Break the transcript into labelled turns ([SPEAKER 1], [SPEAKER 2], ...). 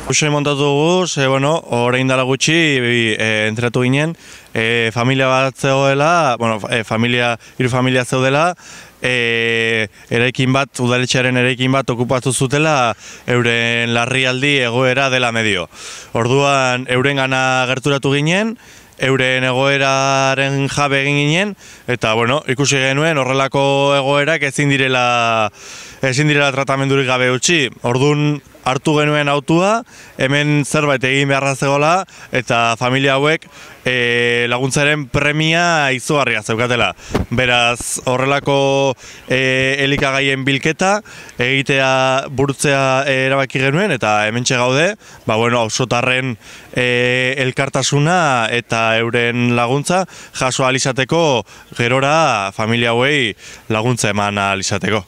[SPEAKER 1] Usain montatu dugu, orain dela gutxi entrenatu ginen, familia bat zegoela, hiru familia zeudela, eraikin bat, udaletxearen eraikin bat okupatu zutela euren larrialdi egoera dela medio. Orduan eurengana gerturatu ginen, euren egoeraren jabe egin ginen, eta ikusi genuen horrelako egoerak ezin direla tratamendurik gabe utzi. Orduan hartu genuen autua, hemen zerbait egin beharra zegoela, eta familia hauek laguntzaren premia izugarria zeukatela. Beraz, horrelako elikagaien bilketa, burutzea erabaki genuen, eta hementxe gaude, auzotarren elkartasuna eta euren laguntza jaso ahal izateko, gerora familia hauei laguntza eman ahal izateko.